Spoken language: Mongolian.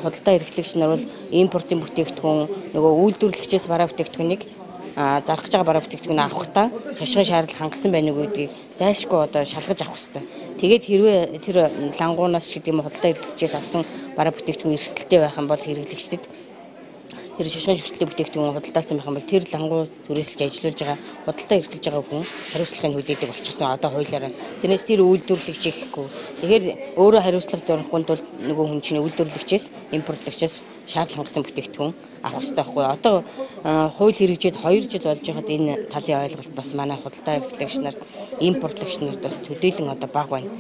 Худалдаа эрхлэгч нар бол импортын бүтээгдэхүүн нөгөө үйлдвэрлэгчээс бараа бүтээгдэхүүнийг зарах гэж байгаа бараа бүтээгдэхүүн авахдаа хашгирын шаардлага хангасан байна уу гэдгийг зайлшгүй одоо шалгаж авах хэрэгтэй. Тэгээд хэрвээ тэр лангуунаас ч гэдэг юм худалдаа эрхлэгчээс авсан бараа бүтээгдэхүүн эрсдэлтэй байх юм бол хэрэглэгчдэд тэр шашгын шүтлэг бүтээгдэхүүн худалдаалсан байх юм бол тэр лангуу түрээсэлж ажиллаж байгаа худалдаа эрхлэж байгаа хүн хариуцлагыг хүлээдэг болчихсон одоо хуулиараа. Тэрнээс тэр үйлдвэрлэгч ихгүй. Тэгэхээр өөрөө хариуцлага дөрөхгүйд бол нөгөө хүн чинь үйлдвэрлэгчээс импортлагчаас шаардлага хангасан бүтээгдэхүүн авах хэрэгтэй байхгүй. Одоо хууль хэрэгжээд 2 жил болж байхад энэ талын ойлголт бас манай худалдаа эрхлэгч нар импортлагч нарт бас төдийлөн одоо бага байна.